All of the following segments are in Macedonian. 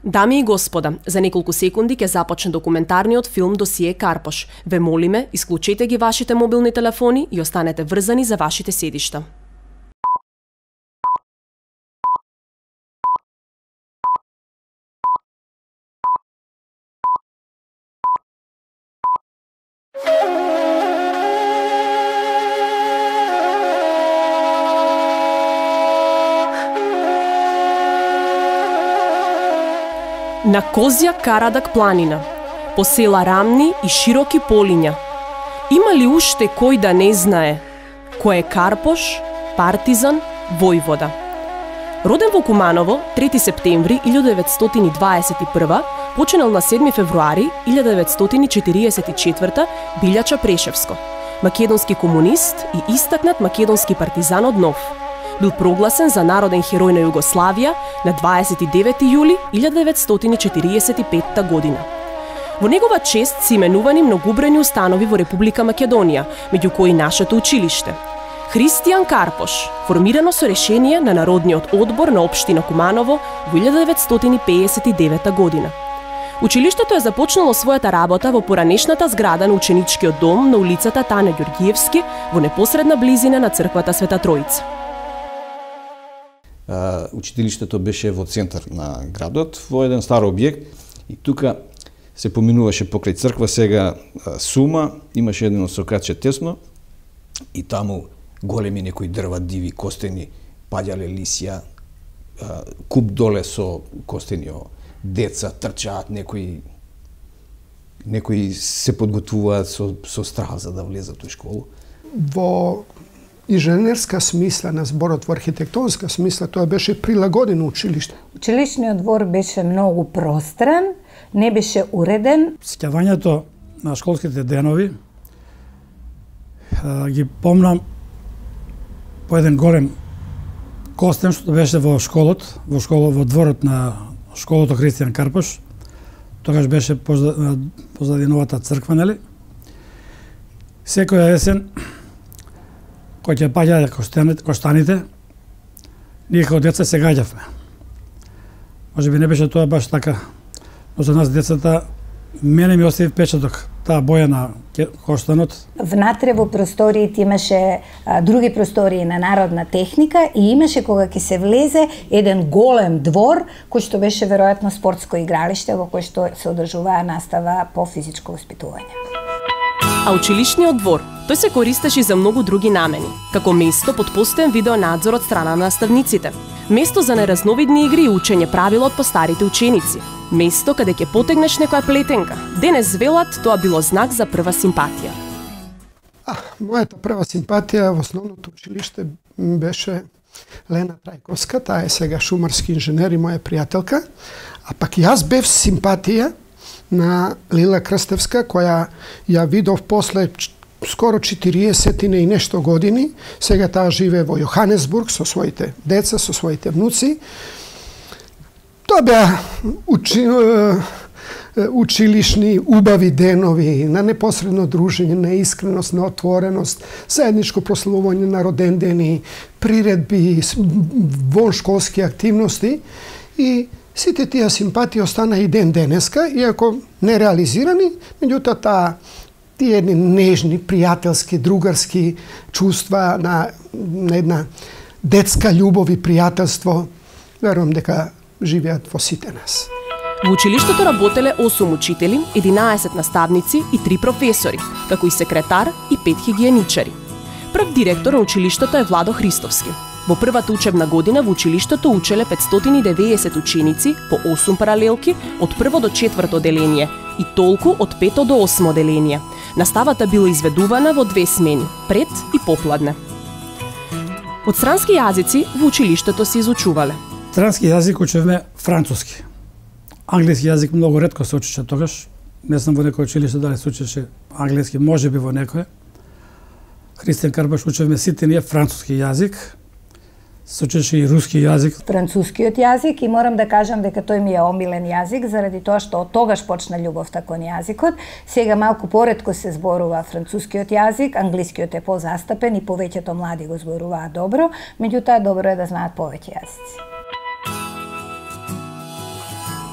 Дами и господа, за неколку секунди ќе започне документарниот филм Досие Карпош. Ве молиме, исклучете ги вашите мобилни телефони и останете врзани за вашите седишта. На Козја Карадак планина, по села рамни и широки полиња, има ли уште кој да не знае кој е Карпош, партизан, војвода? Роден во Куманово 3 септември 1921, починал на 7 февруари 1944, Билјача Прешевско, македонски комунист и истакнат македонски партизан од Нов. Бил прогласен за народен херој на Југославија на 29 јули 1945 година. Во негова чест се именувани многобројни установи во Република Македонија, меѓу кои нашето училиште. Христијан Карпош, формирано со решение на Народниот одбор на општина Куманово во 1959 година. Училиштето е започнало својата работа во поранешната зграда на ученичкиот дом на улицата Тане Ѓорѓиевски во непосредна близина на црквата Света Тројца. Учителиштето беше во центар на градот, во еден стар објект, и тука се поминуваше покрај црква, сега сума, имаше едно сократче тесно и таму големи некои дрва, диви, костени, паѓале лисја, куп доле со костени, деца трчаат, некои се подготвуваат со страх за да влезат во школу. Во инженерска смисла на зборот, во архитектонска смисла, тоа беше прилагодено училиште. Училишниот двор беше многу простран, не беше уреден. Сеќавањето на школските денови ги помнам по еден голем костен што беше во дворот на школото Христијан Карпош. Тогаш беше позади новата црква, нели? Секоја есен кој ќе паѓа коштаните, ние како деца се гаѓавме. Може би не беше тоа баш така, но за нас децата, мене ми остави впечаток таа боја на коштанот. Внатре во просториите имаше други простории на народна техника и имаше кога ќе се влезе еден голем двор, кој што беше веројатно спортско игралиште во кој што се одржуваа настава по физичко воспитување. А училишниот двор, тој се користеше за многу други намени, како место под постојан видеонадзор од страна на наставниците, место за неразновидни игри и учење правила од постарите ученици, место каде ќе потегнеш некоја плетенка. Денес велат тоа било знак за прва симпатија. Мојата прва симпатија во основното училиште беше Лена Трајковска, таа е сега шумарски инженер и моја пријателка, а пак јас бев симпатија на Лила Крстевска, која ја видов после скоро 40 и нешто години. Сега таа живее во Јоханесбург со своите деца, со своите внуци. Тоа беа училишни убави денови на непосредно дружење, на искреност, на отвореност, заедничко прославување на роден дени, приредби, воншколски активности и сите тие симпатии остана и ден денеска, иако нереализирани, меѓутоа тие едни нежни, пријателски, другарски чувства на една детска љубов и пријателство, верувам дека живеат во сите нас. Во училиштето работеле 8 учители, 11 наставници и 3 професори, како и секретар и 5 хигиеничари. Прв директор на училиштето е Владо Христовски. Во првата учебна година во училиштето учеле 590 ученици по 8 паралелки од 1 до 4 оделение и толку од 5 до 8 оделение. Наставата била изведувана во 2 смени, пред и попладне. Од странски јазици во училиштето се изучувале. Странски јазик учевме француски. Англиски јазик многу ретко се учеше тогаш. Не знам во некој училиште дали се учеше англиски, можеби во некој. Христијан Карпош учевме сите ние француски јазик. Се учеше и руски јазик. Францускиот јазик, и морам да кажам дека тој ми е омилен јазик, заради тоа што од тогаш почна љубовта кон јазикот. Сега малку поретко се зборува францускиот јазик, англискиот е позастапен и повеќето млади го зборуваат добро, меѓутоа добро е да знаат повеќе јазици.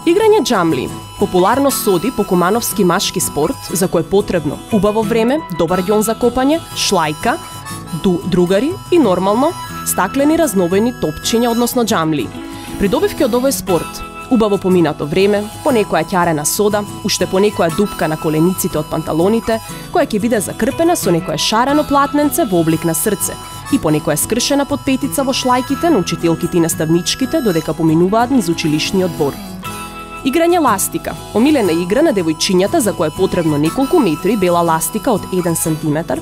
Играње џамли популарно соди по кумановски машки спорт за кој е потребно убаво време, добар ѓон за копање, шлајка, другари и нормално стаклени разновени топчиња, односно џамли. Придобивки од овој спорт убаво поминато време, по некоја ќарена сода, уште по некоја дупка на колениците од панталоните, која ќе биде закрпена со некое шарено платненце во облик на срце и по некоја скршена подпетица во шлајките на учителките и наставничките додека поминуваат низ училишниот двор. Играње ластика, омилена игра на девојчињата за која е потребно неколку метри бела ластика од 1 сантиметар,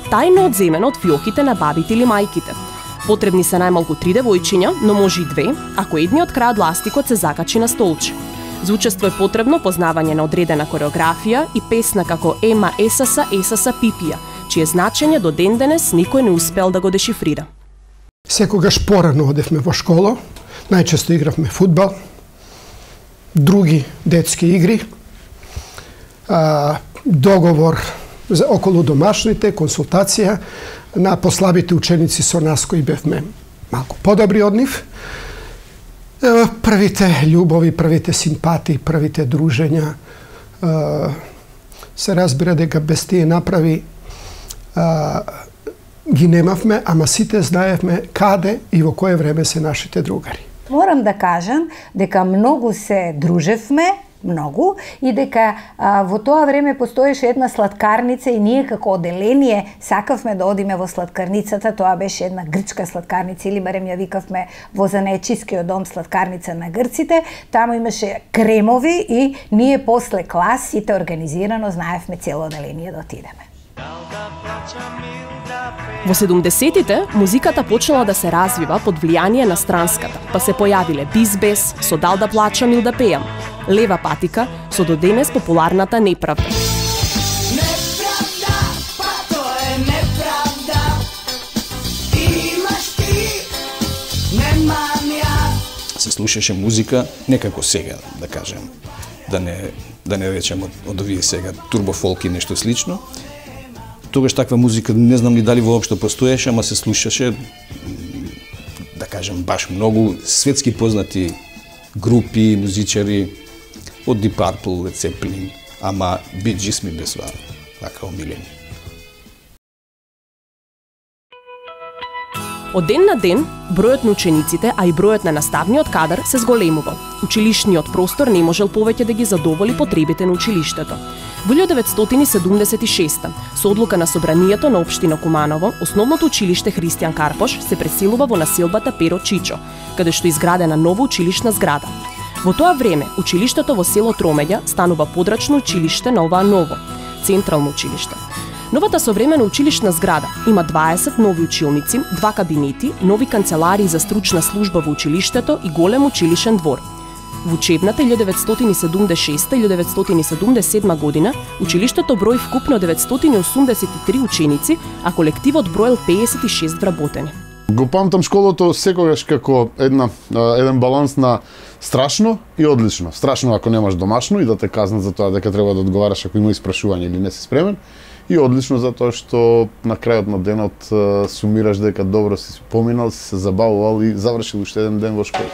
тајно одземена од фиоките на бабите или мајките. Потребни се најмалку 3 девојчиња, но може и 2, ако едниот крај од ластикот се закачи на столче. За учество е потребно познавање на одредена кореографија и песна како Ема Есаса Есаса Пипија, чие значење до ден денес никој не успел да го дешифрира. Секогаш порано одевме во школа, најчесто игравме фудбал, други детски игри, договор за околу домашните, консултација на послабите ученици со нас кои бевме малку подобри од нив. Првите љубови, првите симпатии, првите дружења, се разбира дека без тие направи ги немавме, ама сите знаевме каде и во кое време се нашите другари. Морам да кажам дека многу се дружевме, многу, и дека во тоа време постоеше една сладкарница и ние како оделение сакавме да одиме во сладкарницата. Тоа беше една грчка сладкарница, или барем ја викавме во занаечискиот дом сладкарница на грците. Таму имаше кремови и ние после клас сите организирано знаевме цело оделение да отидеме. Во 70-тите музиката почнала да се развива под влијание на странската, па се појавиле Бизбес со Дал да плачам или да пеам, Лева патика со до денес популарната Неправда. Неправда, па тоа е неправда. Имаш ти, немам ја. Се слушаше музика некако сега, да кажем, да не речем од овие сега турбофолк и нешто слично. Тогаш таква музика не знам ли дали воопшто постоеше, ама се слушаше, да кажем, баш многу светски познати групи, музичари, од Deep Purple, Led Zeppelin, ама Bee Gees ми бесва така омилени. Од ден на ден, бројот на учениците, а и бројот на наставниот кадар се зголемувал. Училишниот простор не можел повеќе да ги задоволи потребите на училиштето. Во 1976 со одлука на собранието на општина Куманово, основното училиште Христијан Карпош се преселува во населбата Перо Чичо, каде што изградена нова училишна зграда. Во тоа време, училиштето во село Тромеѓа станува подрачно училиште на оваа ново, централно училиште. Новата современа училишна зграда има 20 нови училници, 2 кабинети, нови канцеларии за стручна служба во училиштето и голем училишен двор. Во учебната 1976-1977 година, училиштето брои вкупно 983 ученици, а колективот броел 56 вработени. Го памтам школото секогаш како еден баланс на страшно и одлично. Страшно ако немаш домашно и да те казнат за тоа дека треба да одговараш ако има испрашување или не си спремен, и одлично затоа што на крајот на денот сумираш дека добро си поминал, си се забавувал и завршил уште еден ден во школа.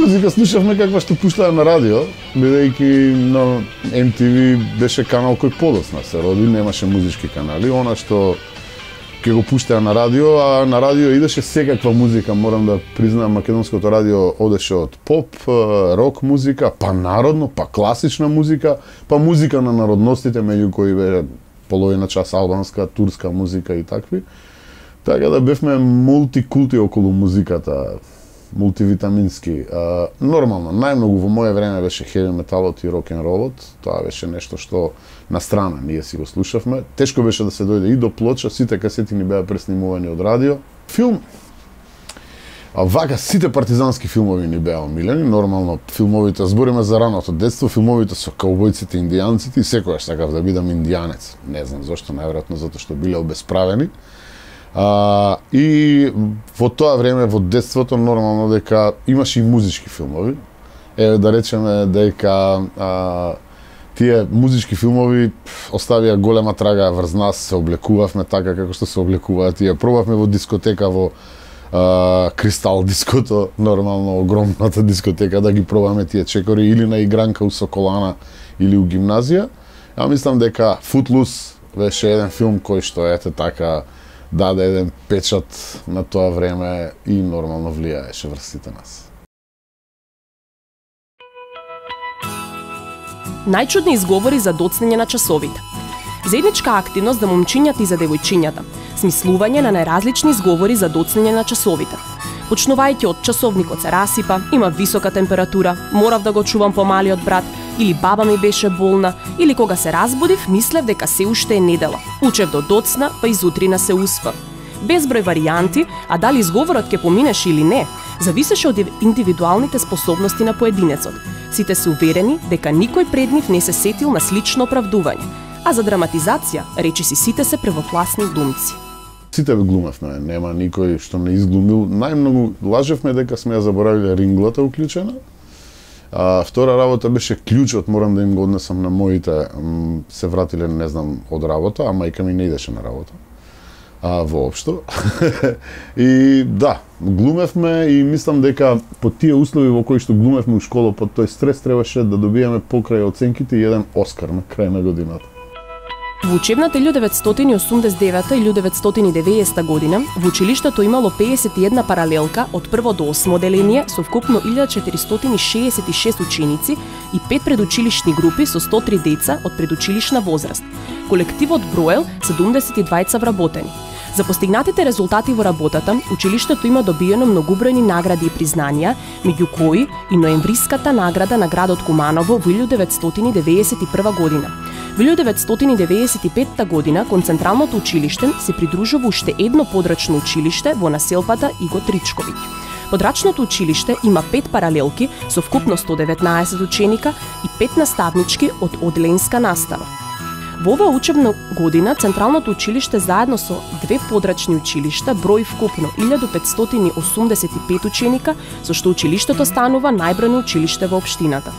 Музика слушавме каква што пуштаа на радио, бидејќи на MTV беше канал кој подоцна се роди, немаше музички канали. Она што ќе го пуштаа на радио, а на радио идеше секаква музика, морам да признаам, македонското радио одеше од поп, рок музика, па народно, па класична музика, па музика на народностите, меѓу кои бе половина час албанска, турска музика и такви. Така да бевме мултикулти околу музиката, мултивитамински. Нормално, најмногу во мое време беше хеви металот и рок-н-ролот. Тоа беше нешто што на страна ние си го слушавме. Тешко беше да се дојде и до плоча, сите касети ни беа преснимувани од радио. Филм, вака сите партизански филмови ни беа омилени. Нормално, филмовите, збориме за раното детство, филмовите со каубојците, индијанците, и секогаш сакав да бидам индијанец. Не знам зошто, најверојатно затоа што биле обесправени. И во тоа време, во детството, нормално дека имаше и музички филмови. Да речеме дека тие музички филмови оставија голема трага врз нас, се облекувавме така како што се облекуваат тие. Пробавме во дискотека, во Кристал диското, нормално огромната дискотека, да ги пробаме тие чекори, или на игранка у Соколана, или у гимназија. Ја мислам дека Footloose беше еден филм кој што ете така даде еден печат на тоа време и нормално влијаеше врз сите нас. Најчудни изговори за доцнење на часовите. Заедничка активност за момчињата и за девојчињата. Смислување на најразлични изговори за доцнење на часовите. Почнувајќи од часовникот се расипа, има висока температура, морав да го чувам помалиот брат, или баба ми беше болна, или кога се разбудив, мислев дека се уште е недела. Учев до доцна, па изутрина се успав. Безброј варијанти, а дали изговорот ќе поминеше или не, зависеше од индивидуалните способности на поединецот. Сите се уверени дека никој пред нив не се сетил на слично оправдување, а за драматизација, речиси сите се првокласни глумци. Сите глумевме, нема никој што не изглумил. Најмногу лажевме дека сме ја заборавиле ринглата уклучена. Втора работа беше клjučот, морам да им го однесам на моите, се вратиле, не знам, од работа, а мајка ми не идеше на работа. Воопшто. И да, глумевме и мислам дека по тие услови во кои што глумевме у школа, под тој стрес требаше да добиеме покрај оценките и еден Оскар на крај на годината. Во учебната 1989 и 1990 година во училиштето имало 51 паралелка од прво до 8 оделение со вкупно 1466 ученици и 5 предучилишни групи со 103 деца од предучилишна возраст. Колективот броел 72 вработени. За постигнатите резултати во работата, училиштето има добиено многубројни награди и признанија, меѓу кои и ноемвриската награда на градот Куманово во 1991 година. Во 1995 година кон Централното училиште се придружува уште едно подрачно училиште во населбата Иго Тричковиќ. Подрачното училиште има 5 паралелки со вкупно 119 ученика и 5 наставнички од одделенска настава. Во оваа учебна година Централното училиште заедно со 2 подрачни училишта брои вкупно 1585 ученика, со што училиштето станува најбројно училиште во општината.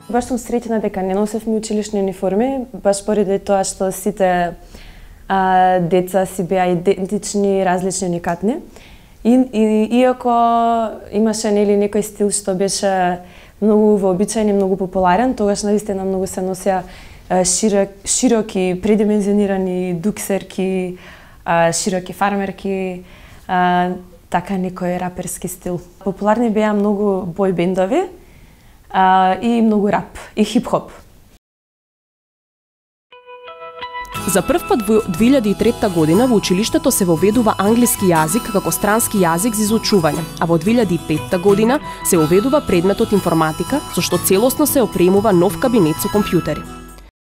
Баш сум среќна дека не носевме училишни униформи, баш поради тоа што сите деца си беа идентични, различни, уникатни. И иако имаше нели некој стил што беше многу вообичаен и многу популарен, тогаш наистина многу се носеа широки, предимензионирани дуксерки, широки фармерки, така некој раперски стил. Популарни беа многу бој бендови и многу рап и хип-хоп. За прв пат во 2003 година во училиштето се воведува англиски јазик како странски јазик за изучување, а во 2005 година се воведува предметот информатика, со што целосно се опремува нов кабинет со компјутери.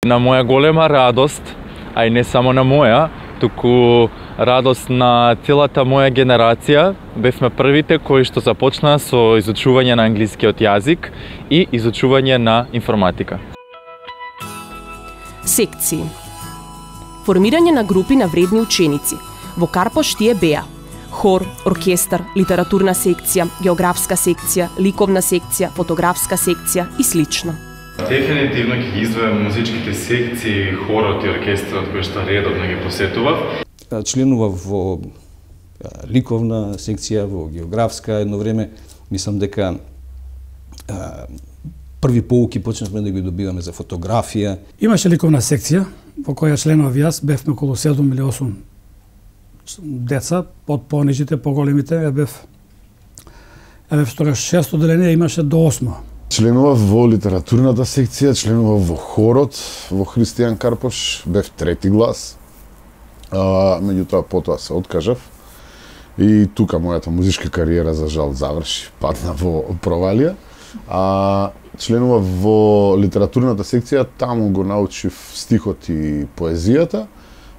На моја голема радост, а и не само на моја, туку радост на целата моја генерација, бевме првите кои што започнаа со изучување на англискиот јазик и изучување на информатика. Секции. Формирање на групи на вредни ученици. Во Карпош тие беа хор, оркестар, литературна секција, географска секција, ликовна секција, фотографска секција и слично. Дефинитивно ќе ги издвојам музичките секции, хорот и оркестарот кои што редовно ги посетував. Членував во ликовна секција, во географска едно време. Мислам дека први поуки почнавме да ги добиваме за фотографија. Имаше ликовна секција во која членов јас, бевме околу 7 или 8 деца, од понижите, поголемите, бев тогаш 6 одделение, имаше до 8. Членував во литературната секција, членував во хорот, во Христијан Карпош, бев трети глас. Меѓутоа потоа се откажав. И тука мојата музичка кариера за жал заврши, падна во провалија. Членував во литературната секција, таму го научив стихот и поезијата,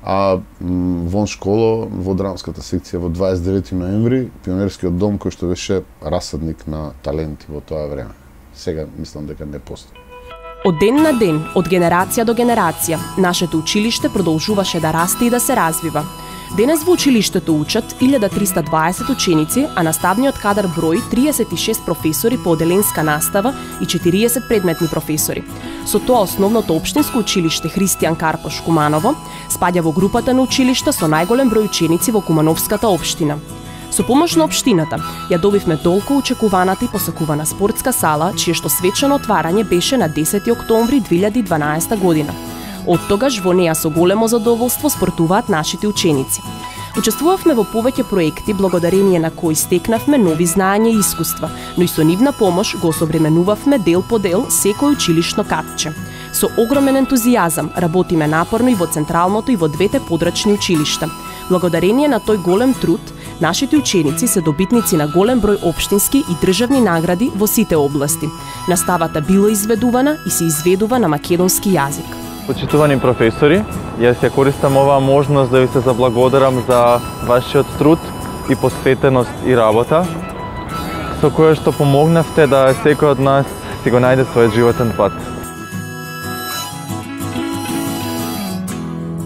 а вон школа, во драмската секција во 29 ноември, пионерскиот дом кој што беше расадник на таленти во тоа време. Сега мислам дека не постои. Од ден на ден, од генерација до генерација, нашето училиште продолжуваше да расте и да се развива. Денес во училиштето учат 1320 ученици, а наставниот кадар брои 36 професори по оделенска настава и 40 предметни професори. Со тоа основното општинско училиште Христијан Карпош Куманово спаѓа во групата на училишта со најголем број ученици во Кумановската општина. Со помош на општината ја добивме толку очекуваната и посакувана спортска сала, чие што свечено отварање беше на 10 октомври 2012 година. Од тогаш во неа со големо задоволство спортуваат нашите ученици. Учествувавме во повеќе проекти благодарение на кои стекнавме нови знаења и искуства, но и со нивна помош го осовременувавме дел по дел секој училишно катче. Со огромен ентузијазам работиме напорно и во централното и во двете подрачни училишта. Благодарение на тој голем труд, нашите ученици се добитници на голем број општински и државни награди во сите области. Наставата била изведувана и се изведува на македонски јазик. Почитувани професори, јас ја користам оваа можност да ви се заблагодарам за вашиот труд и посветеност и работа, со која што помогнавте да секој од нас си го најде својот животен пат.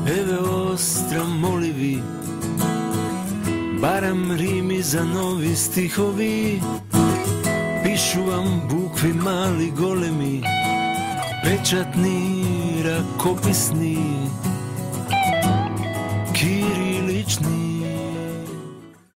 Еве остра моливи, барам рими за нови стихови, пишувам букви мали големи, печатни, ракописни, кирилични.